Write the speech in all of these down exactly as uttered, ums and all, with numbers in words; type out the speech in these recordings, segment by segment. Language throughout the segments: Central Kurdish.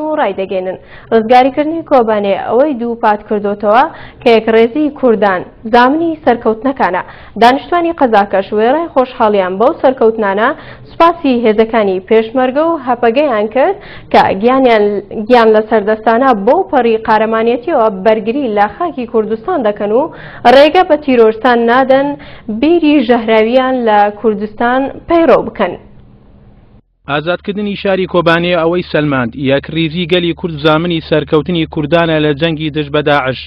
و ڕایدەگەێنن ڕزگاریکردنی کۆبانێ ئەوەی دووپات کردوتەوە کە یەکڕێزی کوردان زامنی سەرکەوتنەکانە. دانیشتوانی قەزاکەش وێڕای خۆشحاڵیان بەو سەرکەوتنانە سوپاسی هێزەکانی پێشمەرگە و هەپەگەیان کرد کە گیان لە سەردەستانە بەو پەڕی قارەمانێتیەوە بەرگری لە خاکی کوردستان دەکەن و ڕێگە بە تیرۆرستان نادەن بیری ژەهراویان لە کوردستان پەیڕەو بکەن. ئازادکردنی شاری کۆبانێ ئەوەی سەلماند یەکڕیزی گەلی کورد زامنی سەرکەوتنی کوردانە لە جەنگی دژ بە داعش.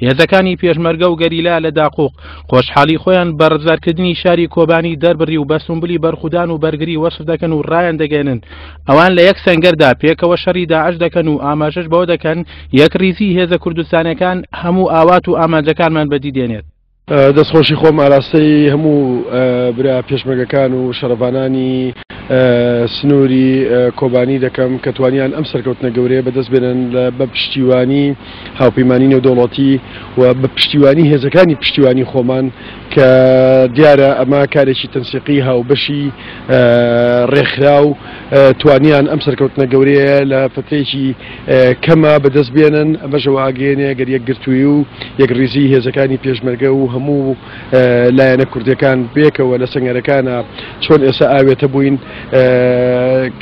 هێزەکانی پێشمەرگە و گەریلا لە داقوق خۆشحاڵی خۆیان بە ڕزگارکردنی شاری کۆبانی دەربڕی و بە سومبلی بەرخودان و بەرگری وەسف دەکەن و ڕایان دەگەێنن ئەوان لە یەک سەنگەردا پێکەوە شەڕی داعش دەکەن و ئاماژەش بەوە دەکەن یەکڕیزی هێزە کوردستانەکان هەموو ئاوات و ئامانجەکانمان بەدی دێنێت. دەستخۆشی خۆم ئاراستەی هەموو برا پێشمەرگەکان و شەڕڤانانی سنووری کۆبانی دەکەم کە توانیان ئەم سەرکەوتنە گەورەیە بەدەست بێنن بە پشتیوانی هاوپەیمانی نێودەوڵەتی و بە پشتیوانی هێزەکانی پشتیوانی خۆمان کە دیارە ئەمە کارێکی تەنسیقی هاوبەشی ڕێکخراو توانیان ئەم سەرکەوتنە گەورەیە لە فترەیەکی کەمە بەدەست بێنن. ئەمەشەوە ئاگەیەنێ گەر یەکگرتووی و یەکڕیزی هێزەکانی پێشمەرگە و هەموو لایەنە کوردیەکان بێکەوە لە سەنگەرەکانە چۆن ئێستا ئاوێتە بووین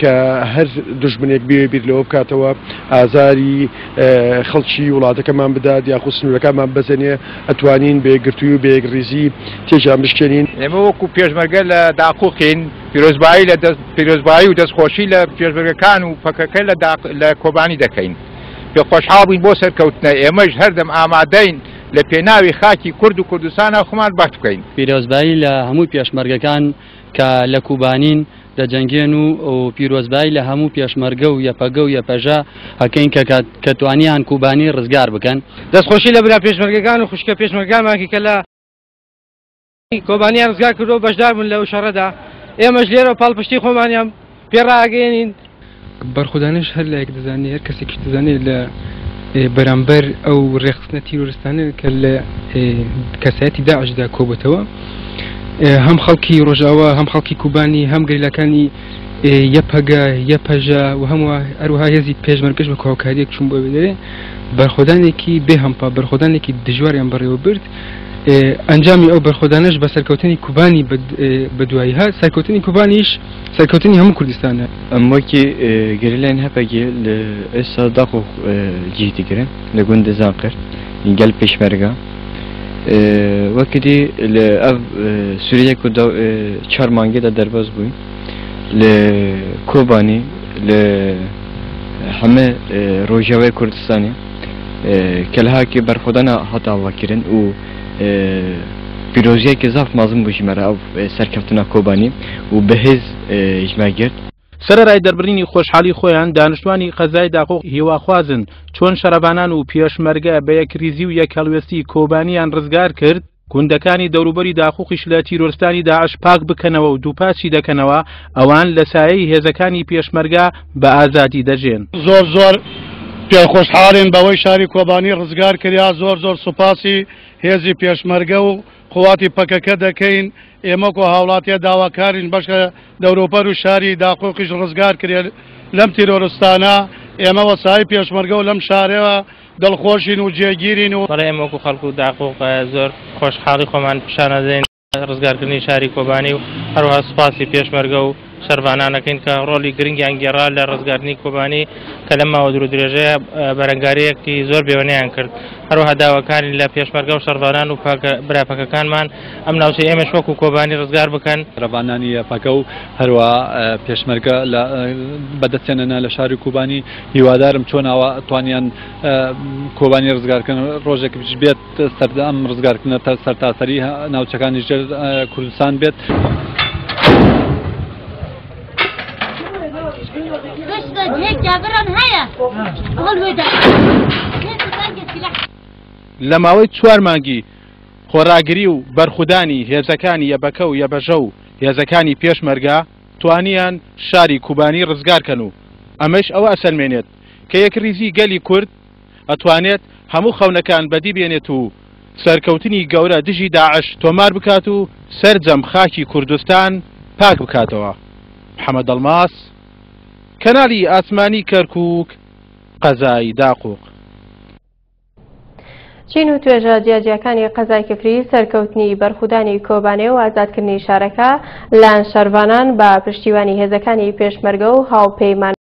کە هەر دژمنێک بێ بیر لەوە بکاتەوە ئازاری خەڵکی وڵاتەکەمان بدات یاخود سنوورەکانمان بەزێنێ، ئەتوانین بەیەکگرتووی و بەیەکڕیزی تێکیان بشکێنین. ئێمە وەکو پێشمەرگە لە داقوقین پیرۆزبایی لە پیرۆزبایی و دەستخۆشی لە پێشمەرگەکان و پەکەکە لە کۆبانی دەکەین. پێخۆشحاڵ بووین بۆ سەرکەوتنە، ئێمەش هەردەم ئامادەین لە پێناوی خاکی کورد و کوردستانە خۆمان بەخت بکەین. پیرۆزبایی لە هەموو پێشمەرگەکان کە لە کوبانین دەجەنگێن و پیرۆزبایی لە هەموو پێشمەرگە و یەپەگە و یەپەژە هەکەین کە توانیان کوبانی ڕزگار بکەن. دەستخۆشی لە برا پێشمەرگەکان و خوشکە پێشمەرگەکانمان کە لە کۆبانیان ڕزگار کردو بەشدار بوون لەو شەڕەدا، ئێمەش لێرە پاڵپشتی خۆمانیان پێڕاگەیەنین. بەرخودانش هەر لایەک دەزانێت، هەر کەسێکیش دەزانێت لە بەرامبەر ئەو ڕێکخستنە تیرۆریستانە کە لە کەسایەتی داعشدا کۆبێتەوە، هەم خەڵکی ڕۆژاوا، هەم خەڵکی کوبانی، هەم گەریلاکانی یەپەگە، یەپەژە و هەموو هەروەها هێزی پێشمەرگەش بە هاوکاریەک چوون بۆ دەرێ بەرخۆدانێکی بێهەمپا، بەرخۆدانێکی دژواریان بەڕێوە برد. ئەنجامی ئەو بەرخۆدانەش بە سەرکەوتنی کوبانی بەدوایی هات، سەرکەوتنی کوبانیش سەرکەوتنی هەموو کوردستانە. ئەم وەکی گەریلایان هەپەگێ لە ئێستا داقوق جێ دەگرن لە گوندی زاقر گەل پێشمەرگە وەکی دی لە ئەv سووریە و چوار مانگێدا دەرباز بووین لە کۆبانی لە هەمە ڕۆژاوای کوردستانی کەلهاکی بەرخۆدانە هات ئاواکردن و پیرۆزیەکی زاف مازن بوو ژمارە ئەو سەرکەوتنە کۆبانی و بەهێز ژمە گرت. سەرەڕای دەربڕینی خۆشحاڵی خۆیان دانیشتوانی قەزای داقوق هیواخوازن چۆن شەڕەڤانان و پێشمەرگە بە یەکریزی و یەکهەڵوێستی کۆبانیان ڕزگار کرد، گوندەکانی دەوروبەری داقوقیش لە تیرۆرستانی داعش پاک بکەنەوە و دووپاتی دەکەنەوە ئەوان لە سایەی هێزەکانی پێشمەرگە بە ئازادی دەژێن. زۆر زۆر پێخۆشحاڵین بەوەی شاری کۆبانی ڕزگار کریا. زۆر زۆر سوپاسی هێزی پێشمەرگە و قواتی پەکەکە دەکەین. ئێمە کۆ هاوڵاتیە داواکارین بەشکە دەوروبەر و شاری داقوقیش ڕزگار کرێت لەم تیرۆرستانە. ئێمە وەسای پێشمەرگە و لەم شارەوە دڵخۆشین و جێگیرین و بەڵێ ئێمە وەکو خەڵک و داقوق زۆر خۆشحاڵی خۆمان پیشانەدەین ڕزگارکردنی شاری کۆبانی و هەروەها سوپاسی پێشمەرگە و شەرڤانانەکەین کە ڕۆڵی گرنگیان گێڕا لە ڕزگارکردنی کۆبانی کە لەم ماوە دوور و درێژەیە بەرەنگاریەکی زۆر بێوەنەیان کرد. هەروەها داواکاری لە پێشمەرگە و شەرڤانان و براپەکەکانمان ئەم ناوچەی ئێمەش وەکو کۆبانی ڕزگار بکەن. شەرڤانانی یەپەگە و هەروەها پێشمەرگە بەدەستێنەنا لە شاری کوبانی، هیوادارم چۆن ئاوا توانیان کۆبانی ڕزگارکردن ڕۆژێک بێت سەردەم ڕزگارکردنە سەرتاسەری ناوچەکانی ژێر کوردستان بێت. لە ماوەی چوار مانگی خۆراگری و بەرخودانی هێزەکانی یەبەکە و یەبەژە و هێزەکانی پێشمەرگە توانیان شاری کوبانی ڕزگارکەن و ئەمەش ئەوە ئەسەلمێنێت کە یەکڕیزی گەلی کورد ئەتوانێت هەموو خەونەکان بەدی بێنێت و سەرکەوتنی گەورە دژی داعش تۆمار بکات و سەرجەم خاکی کوردستان پاک بکاتەوە. محەممەد ئەڵماس، کەناڵی ئاسمانی کەرکووک، قەزای داقوق. چین و توێژە جیاجیاکانی قەزای کفری سەرکەوتنی بەرخودانی کۆبانێ و ئازادکردنی شارەکە لایەن شەرڤانان بە پشتیوانی هێزەکانی پێشمەرگە و هاوپەیمان